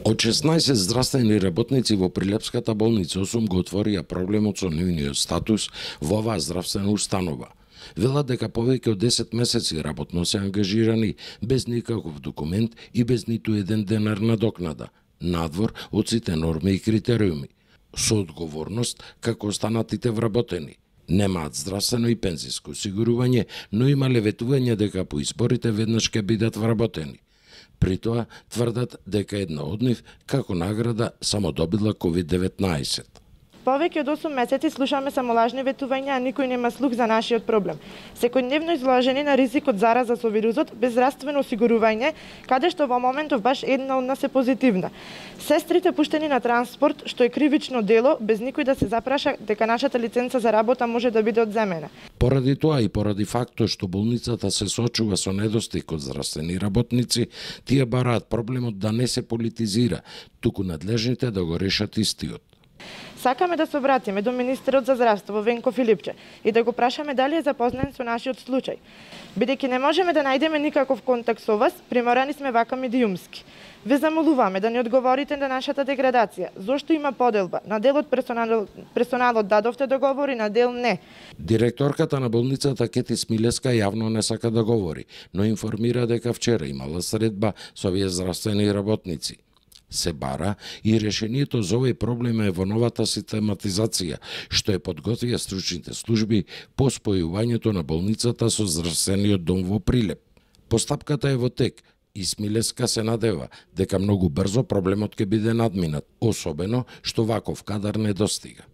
Од 16 здравствени работници во Прилепската болница 8 го отворија проблемот со нивниот статус во оваа здравствена установа. Велат дека повеќе од 10 месеци работно се ангажирани без никаков документ и без ниту еден денар надокнада, надвор од сите норми и критериуми, со одговорност како останатите вработени. Немаат здравствено и пензиско осигурување, но имале ветување дека по изборите веднаш ќе бидат вработени. При тоа тврдат дека една од нив како награда само добила COVID-19. Повеќе од 8 месеци слушаме само лажни ветувања, а никој нема слух за нашиот проблем. Секојдневно изложени на ризик од зараза со вирусот, без здравствено осигурување, каде што во моментов баш една од нас е позитивна. Сестрите пуштени на транспорт, што е кривично дело, без никој да се запраша дека нашата лиценца за работа може да биде одземена. Поради тоа и поради фактот што болницата се соочува со недостиг од здравствени работници, тие бараат проблемот да не се политизира, туку надлежните да го решат истиот. Сакаме да се обратиме до министерот за здравство Венко Филипче и да го прашаме дали е запознат со нашиот случај. Бидејќи не можеме да најдеме никаков контакт со вас, приморани сме вака медиумски. Ве замолуваме да ни одговорите на нашата деградација. Зошто има поделба? На дел од персоналот дадовте договори, на дел не. Директорката на болницата Кети Смилеска јавно не сака да говори, но информира дека вчера имала средба со овие здравствени работници. Се бара и решението за овој проблем е во новата систематизација, што е подготвија стручните служби по спојувањето на болницата со здравствениот дом во Прилеп. Постапката е во тек и Смилеска се надева дека многу брзо проблемот ќе биде надминат, особено што ваков кадар недостига.